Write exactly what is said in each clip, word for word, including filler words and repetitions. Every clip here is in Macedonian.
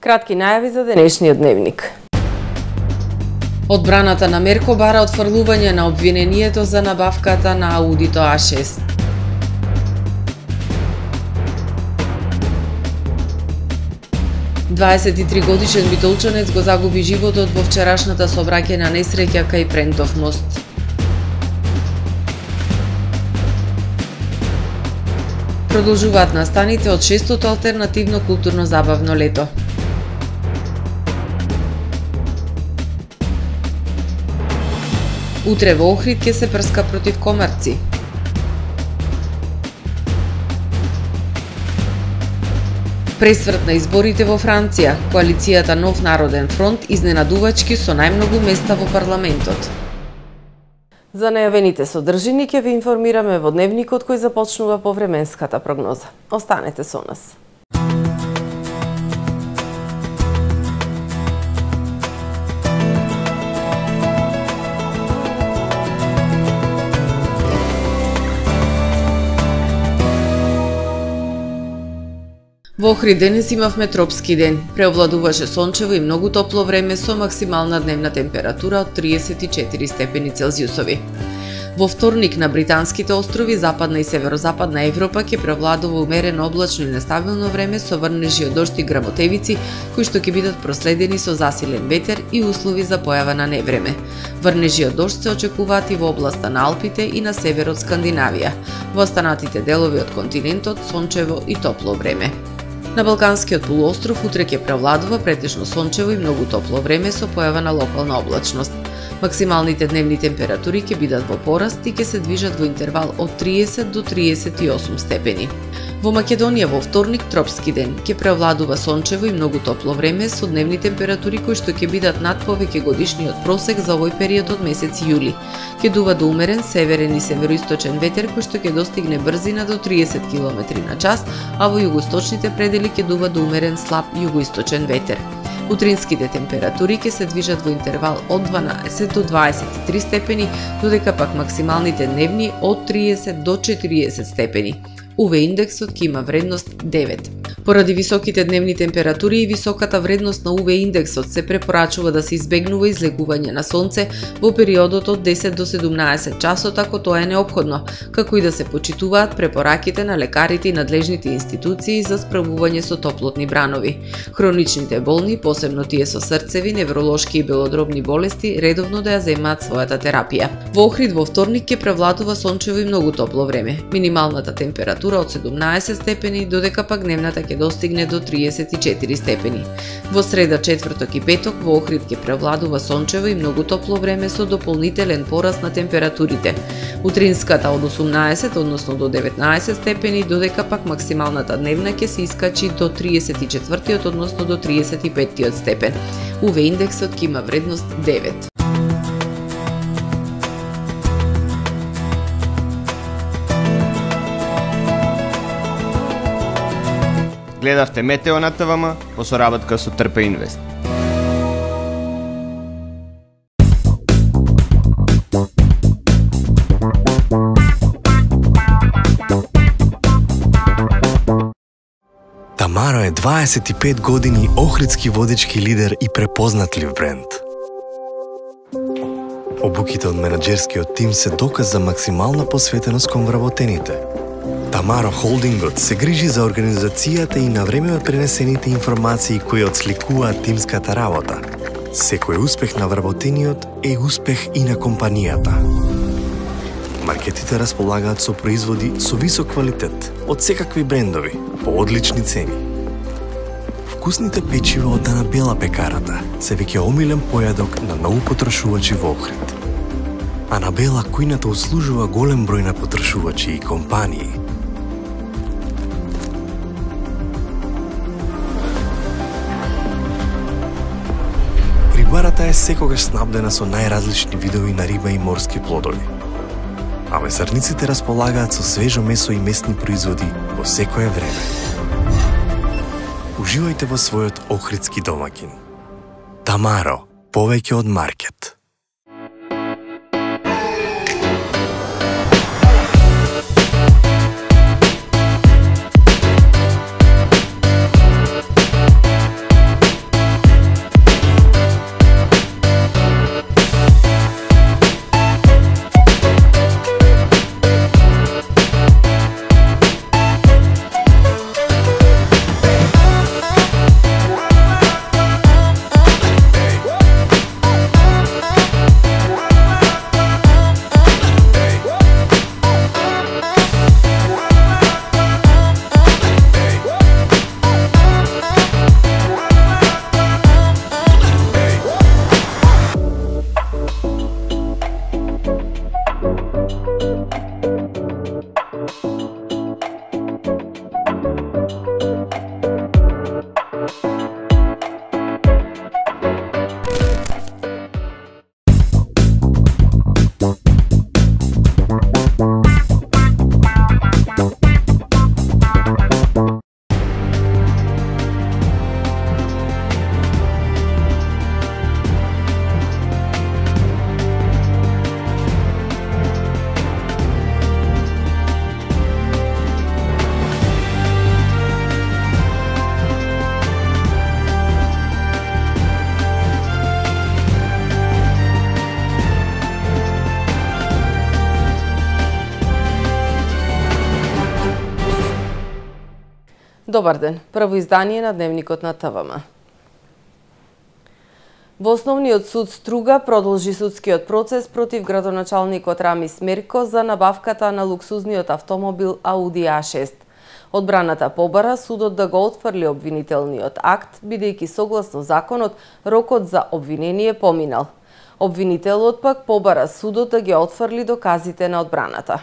Кратки најави за денешниот дневник. Одбраната на Мерко бара отфрлување на обвинението за набавката на Аудито А шест. дваесет и три годишен битолчанец го загуби животот во вчерашната сообраќајна несреќа кај Прентов мост. Продолжуваат настаните од шестото алтернативно културно-забавно лето. Утре во Охрид ќе се прска против комарци. Пресврт на изборите во Франција, коалицијата Нов народен фронт изненадувачки со најмногу места во парламентот. За најавените содржини ќе ви информираме во дневникот кој започнува по временската прогноза. Останете со нас. Во Охрид денес имавме тропски ден. Преовладуваше сончево и многу топло време со максимална дневна температура од триесет и четири степени Целзиусови. Во вторник на британските острови, западна и северозападна Европа ќе превладува умерено облачно и нестабилно време со врнежи од дожд и грамотевици, кои што ќе бидат проследени со засилен ветер и услови за појава на невреме. Врнежи од дожд се очекуваат и во областа на Алпите и на северот Скандинавија. Во останатите делови од континентот сончево и топло време. На Балканскиот полуостров утре ќе превладува претежно сончево и многу топло време со појава на локална облачност. Максималните дневни температури ќе бидат во пораст и ќе се движат во интервал од триесет до триесет и осум степени. Во Македонија во вторник тропски ден ќе превладува сончево и многу топло време со дневни температури кои што ќе бидат над повеќе годишниот просек за овој период од месец јули. Ќе дува до умерен северен и североисточен ветер кој што ќе достигне брзина до триесет километри на час, а во југоисточните предели ќе дува до умерен слаб југоисточен ветер. Утринските температури ќе се движат во интервал од дванаесет до дваесет и три степени, додека пак максималните дневни од триесет до четириесет степени. У В индексот ќе има вредност девет. Поради високите дневни температури и високата вредност на У В индексот се препорачува да се избегнува излегување на сонце во периодот од десет до седумнаесет часот ако тоа е неопходно, како и да се почитуваат препораките на лекарите и надлежните институции за справување со топлотни бранови. Хроничните болни, посебно тие со срцеви, невролошки и белодробни болести, редовно да ја земаат својата терапија. Во Охрид во вторник ќе превладува сончево и многу топло време. Минималната температура од седумнаесет степени, додека пак дневната ќе достигне до триесет и четири степени. Во среда, четврток и петок во Охрид ќе превладува сончево и многу топло време со дополнителен пораст на температурите. Утринската од осумнаесет, односно до деветнаесет степени, додека пак максималната дневна ќе се искачи до триесет и четвртиот, односно до триесет и петтиот степен. У В индексот ќе има вредност девет. Гледавте Метео на Т В М по соработка со Трпе Инвест. Тамаро е дваесет и пет години охридски водички лидер и препознатлив бренд. Обуките од менаџерскиот тим се доказ за максимална посветеност кон вработените. Тамаро Холдингот се грижи за организацијата и на време пренесените информации кои отсликуваат тимската работа. Секој успех на вработениот е успех и на компанијата. Маркетите располагаат со производи со висок квалитет од секакви брендови по одлични цени. Вкусните печива од Дана Бела пекарата се веќе омилен појадок на многу потрошувачи во Охрид. Анабела кујната услужува голем број на потрошувачи и компании. Рибарата е секогаш снабдена со најразлични видови на риба и морски плодови. А месарниците располагаат со свежо месо и местни производи во секое време. Уживајте во својот охридски домаќин. Тамаро, повеќе од маркет. Добар ден, прво издание на Дневникот на ТВМ. Во Основниот суд Струга продолжи судскиот процес против градоначалникот Рамис Мерко за набавката на луксузниот автомобил Ауди А шест. Одбраната побара судот да го отфрли обвинителниот акт, бидејќи согласно законот рокот за обвинение поминал. Обвинителот пак побара судот да ги отфрли доказите на одбраната.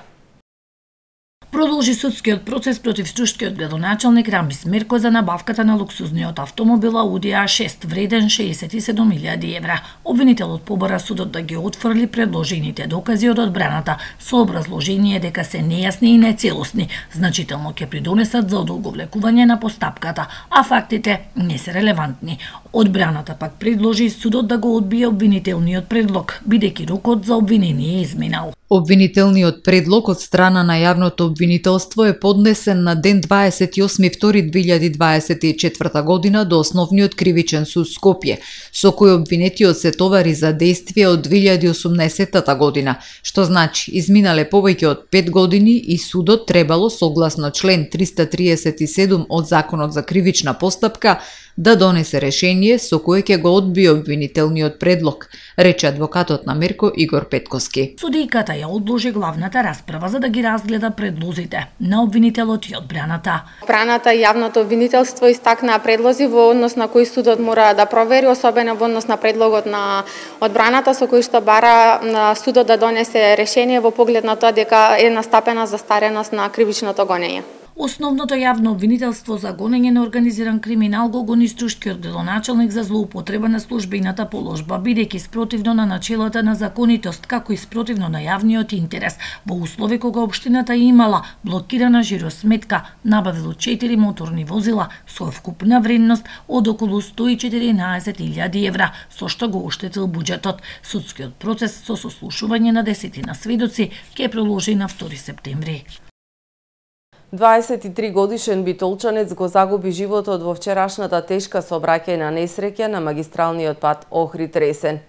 Продолжи судскиот процес против штушкиот градоначалник Рамис Мерко за набавката на луксузниот автомобил Ауди А шест вреден шеесет и седум илјади евра. Обвинителот побара судот да ги отфрли предложените докази од одбраната со образложение дека се нејасни и нецелосни, значително ќе придонесат за одолговлекување на постапката, а фактите не се релевантни. Одбраната пак предложи судот да го одбие обвинителниот предлог, бидејќи рокот за обвинение е изминал. Обвинителниот предлог од страна на јавното обвинителство е поднесен на ден дваесет и осми втори две илјади дваесет и четврта година до Основниот кривичен суд Скопје, со кој обвинетиот се товари за дејствие од две илјади и осумнаесетта година, што значи изминале повеќе од пет години и судот требало согласно член триста триесет и седум од Законот за кривична постапка да донесе решение со кое ќе го одбие обвинителниот предлог, рече адвокатот на Мерко Игор Петковски. Судијката ја одложи главната расправа за да ги разгледа предлозите на обвинителот и одбраната. Одбраната и јавното обвинителство истакнаа предлози во однос на кои судот мора да провери, особено во однос на предлогот на одбраната со кој што бара на судот да донесе решение во поглед на тоа дека е настапена застареност на кривичното гонење. Основното јавно обвинителство за гонење на организиран криминал го гони штушкиот градоначалник за злоупотреба на службената положба, бидејќи спротивно на начелата на законитост, како и спротивно на јавниот интерес, во услови кога општината имала блокирана жиросметка, набавило четири моторни возила со вкупна вредност од околу сто и четиринаесет илјади евра, со што го оштетил буџетот. Судскиот процес со сослушување на десетина сведоци ќе продолжи на втори септември. дваесет и три годишен битолчанец го загуби животот во вчерашната тешка сообраќајна несреќа на магистралниот пат Охрид-Ресен.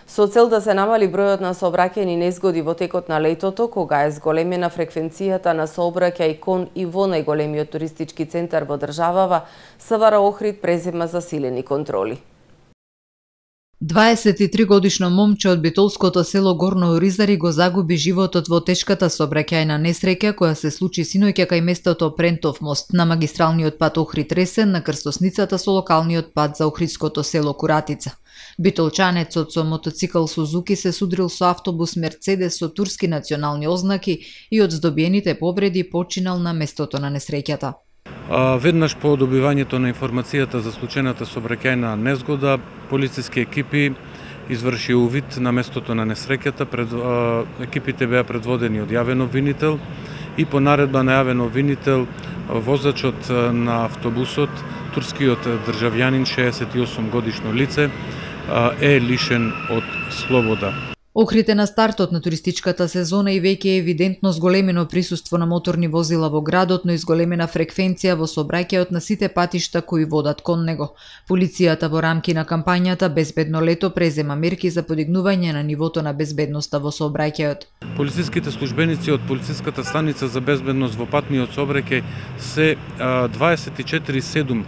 Со цел да се намали бројот на сообраќајни незгоди во текот на летото, кога е зголемена фреквенцијата на сообраќај кон и во најголемиот туристички центар во државава, СВР Охрид презема засилени контроли. дваесет и три годишно момче од битолското село Горно Оризари го загуби животот во тешката сообраќајна несреќа која се случи синоќа кај местото Прентов мост на магистралниот пат Охрид-Ресен на крстосницата со локалниот пат за охридското село Куратица. Битолчанецот со мотоцикл Сузуки се судрил со автобус Мерцедес со турски национални ознаки и од здобиените повреди починал на местото на несреќата. Веднаш по добивањето на информацијата за случајната сообраќајна незгода, полициски екипи изврши увид на местото на несреќата. Пред, екипите беа предводени од јавен обвинител и по наредба на јавен обвинител возачот на автобусот, турскиот државјанин шеесет и осум годишно лице, е лишен од слобода. Охрид е на стартот на туристичката сезона и веќе е евидентно зголемено присуство на моторни возила во градот, но и зголемена фреквенција во сообраќајот на сите патишта кои водат кон него. Полицијата во рамки на кампањата Безбедно лето презема мерки за подигнување на нивото на безбедноста во сообраќајот. Полициските службеници од полициската станица за безбедност во патниот сообраќај се дваесет и четири седум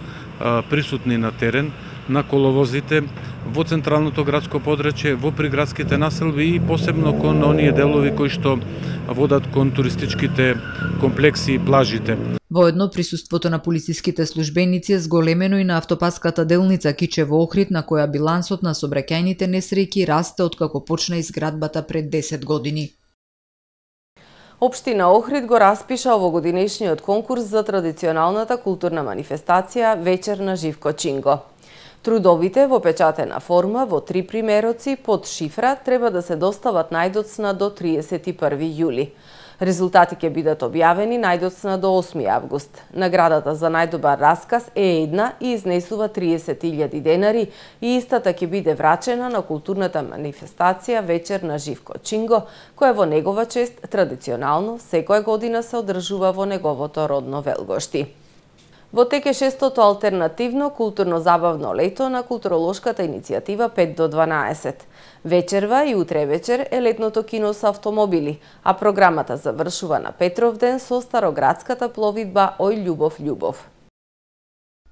присутни на терен, на коловозите, во централното градско подрачје, во приградските населби и посебно кон оние делови кои што водат кон туристичките комплекси и плажите. Воедно присуството на полициските службеници е зголемено и на автопаската делница Кичево Охрид, на која билансот на сообраќајните несреќи расте откако почна изградбата пред десет години. Општина Охрид го распиша овогодинешниот конкурс за традиционалната културна манифестација Вечер на Живко Чинго. Трудовите во печатена форма во три примероци под шифра треба да се достават најдоцна до триесет и први јули. Резултати ќе бидат објавени најдоцна до осми август. Наградата за најдобар расказ е една и изнесува триесет илјади денари и истата ќе биде врачена на културната манифестација Вечер на Живко Чинго, која во негова чест традиционално секоја година се одржува во неговото родно Велгошти. Во тек е шестото алтернативно културно-забавно лето на културолошката иницијатива пет до дванаесет. Вечерва и утре вечер е летното кино со автомобили, а програмата завршува на Петровден со староградската пловидба Ој Љубов Љубов.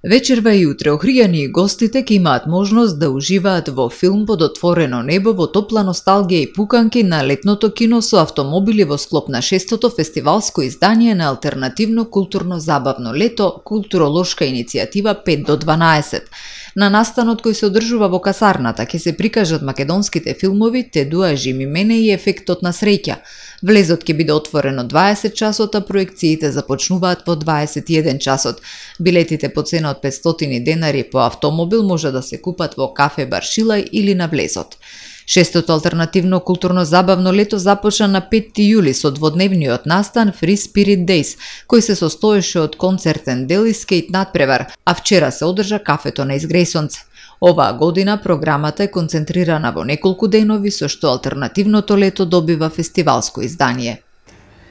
Вечерва и утре охријани и гостите ќе имаат можност да уживаат во филм под отворено небо во топла носталгија и пуканки на летното кино со автомобили во склоп на шестото фестивалско издание на алтернативно културно забавно лето Културолошка иницијатива пет до дванаесет. На настанот кој се одржува во касарната ќе се прикажат македонските филмови Тедуа Жими мене и Ефектот на среќа. Влезот ќе биде отворен од дваесет часот, а проекциите започнуваат во дваесет и еден часот. Билетите по цена од петстотини денари по автомобил може да се купат во кафе Баршилај или на влезот. Шестото алтернативно културно забавно лето започна на петти јули со дводневниот настан Free Spirit Days, кој се состоеше од концертен дел и скејт надпревар, а вчера се одржа кафето на Изгрејсонце. Оваа година програмата е концентрирана во неколку денови, со што алтернативното лето добива фестивалско издание.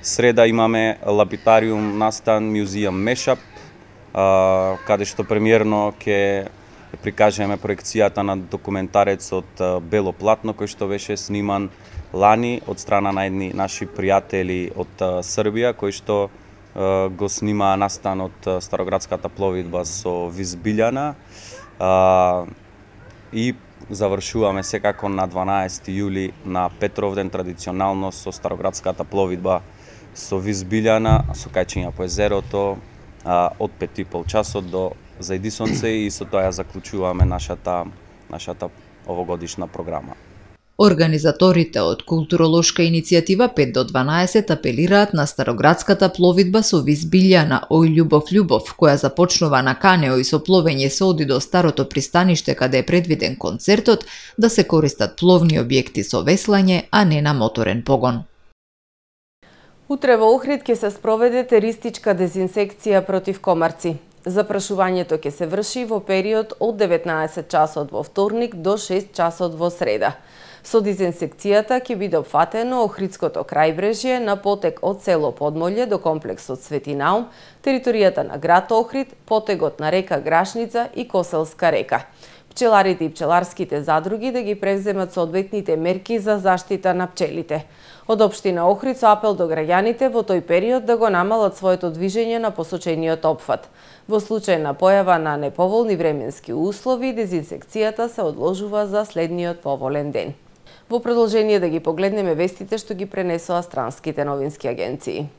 Среда имаме Лапитариум настан Museum Mashup, каде што премиерно ќе прикажеме проекцијата на документарецот Бело платно, кој што беше сниман лани од страна на едни наши пријатели од Србија, кои што го снима настанот Староградската пловидба со Виз Билјана. И завршуваме секако на дванаесети јули на Петровден традиционално со Староградската пловидба со Виз Билјана, со кајчење по езерото од пет и пол часот до зајди сонце, и со тоа ја заклучуваме нашата нашата овогодишна програма. Организаторите од Културолошка иницијатива пет до дванаесет апелираат на Староградската пловидба со Виз Билјана Ој љубов љубов, која започнува на канео и со пловење се оди до старото пристаниште каде е предвиден концертот, да се користат пловни објекти со веслање, а не на моторен погон. Утре во Охрид ќе се спроведе теристичка дезинсекција против комарци. Запрашувањето ќе се врши во период од деветнаесет часот во вторник до шест часот во среда. Со дезинсекцијата ќе биде опфатено Охридското крајбрежје на потек од село Подмолје до комплексот Свети Наум, територијата на град Охрид, потегот на река Грашница и Коселска река. Пчеларите и пчеларските задруги да ги превземат соодветните мерки за заштита на пчелите. Од општина Охрид со апел до граѓаните во тој период да го намалат своето движење на посочениот опфат. Во случај на појава на неповолни временски услови, дезинсекцијата се одложува за следниот поволен ден. Во продолжение да ги погледнеме вестите што ги пренесоа странските новински агенции.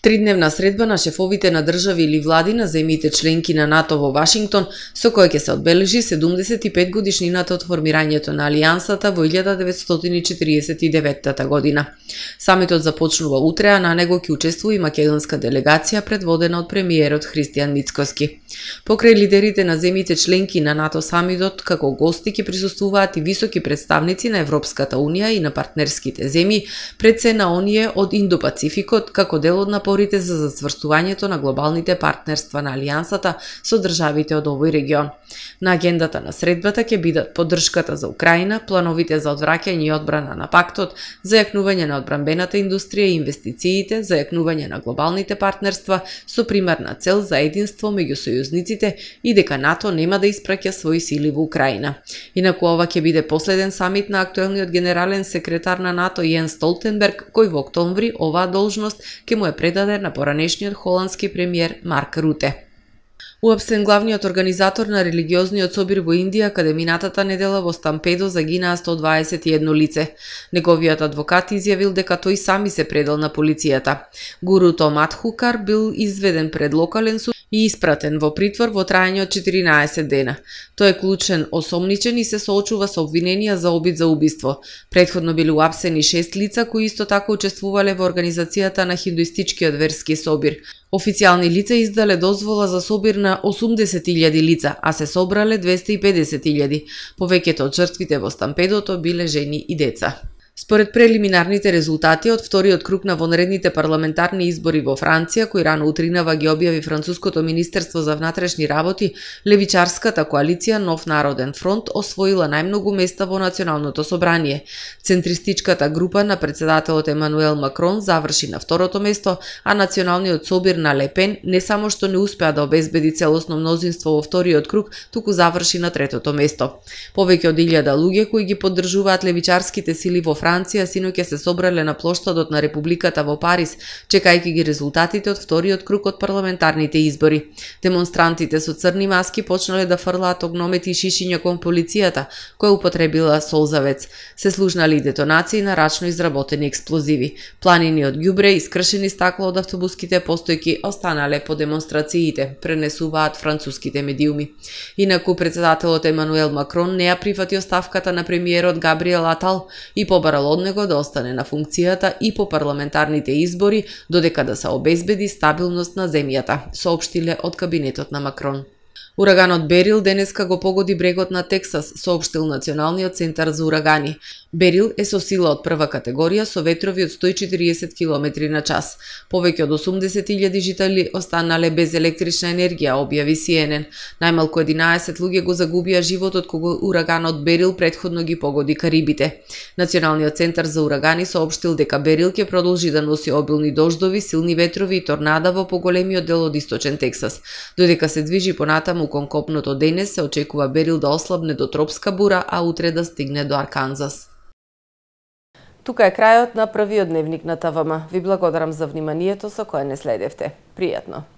Тридневна средба на шефовите на држави или влади на земјите членки на НАТО во Вашингтон, со која ќе се одбележи седумдесет и пет годишнината од формирањето на Алијансата во илјада деветстотини четиридесет и деветта година. Самитот започнува утре, а на него ќе учествува и македонска делегација предводена од премиерот Христијан Мицкоски. Покрај лидерите на земјите членки на НАТО самитот, како гости ќе присуствуваат и високи представници на Европската унија и на партнерските земји, пред се на оние од Индо-Пацификот, како дел од напорите за зацврстувањето на глобалните партнерства на Алијансата со државите од овој регион. На агендата на средбата ќе бидат поддршката за Украина, плановите за одвраќање и одбрана на пактот, зајакнување на одбранбената индустрија и инвестициите, зајакнување на глобалните партнерства со примарна цел за единство меѓу сојузниците и дека НАТО нема да испраќа своји сили во Украина. Инаку ова ќе биде последен самит на актуелниот генерален секретар на НАТО Јенс Столтенберг, кој во октомври оваа должност ќе му е предаде на поранешниот холандски премиер Марк Руте. Уапсен главниот организатор на религиозниот собир во Индија, каде минатата недела во Стампедо загинаа сто дваесет и едно лице. Неговиот адвокат изјавил дека тој сами се предал на полицијата. Гуруто Мадхукар бил изведен пред локален суд и испратен во притвор во трајање од четиринаесет дена. Тој е клучен осомничен и се соочува со обвиненија за обид за убиство. Претходно биле уапсени шест лица кои исто така учествувале во организацијата на хиндуистичкиот верски собир. Официјални лица издале дозвола за собир на осумдесет илјади лица, а се собрале двесте и педесет илјади. Повеќето од жртвите во стампедото биле жени и деца. Според прелиминарните резултати од вториот круг на вонредните парламентарни избори во Франција, кои рано утринава ги објави француското министерство за внатрешни работи, левичарската коалиција Нов народен фронт освоила најмногу места во националното собрание. Центристичката група на председателот Емануел Макрон заврши на второто место, а националниот собир на Ле Пен не само што не успеа да обезбеди целосно мнозинство во вториот круг, туку заврши на третото место. Повеќе од илјада луѓе кои ги поддржуваат левичарските сили во Франција синоќа се собрале на плоштадот на Републиката во Париз, чекајќи ги резултатите од вториот круг од парламентарните избори. Демонстрантите со црни маски почнале да фрлаат огномети и шишиња кон полицијата, која употребила солзавец. Се слушнали детонации на рачно изработени експлозиви. Планини од ѓубре и скршени стакло од автобуските постојки останале по демонстрациите, пренесуваат француските медиуми. Инаку претседателот Емануел Макрон не ја прифати оставката на премиерот Габриел Атал и побарал од него да остане на функцијата и по парламентарните избори, додека да се обезбеди стабилност на земјата, соопштиле од кабинетот на Макрон. Ураганот Берил денеска го погоди брегот на Тексас, соопштил Националниот центар за урагани. Берил е со сила од прва категорија со ветрови од сто и четириесет километри на час. Повеќе од осумдесет илјади жители останале без електрична енергија, објави Си Ен Ен. Најмалку единаесет луѓе го загубија животот кога ураганот Берил претходно ги погоди Карибите. Националниот центар за урагани соопштил дека Берил ќе продолжи да носи обилни дождови, силни ветрови и торнада во поголемиот дел од источен Тексас. Додека се движи понатаму кон копното денес, се очекува Берил да ослабне до тропска бура, а утре да стигне до Арканзас. Тука е крајот на првиот дневник на ТВМ. Ви благодарам за вниманието со кое не следевте. Пријатно!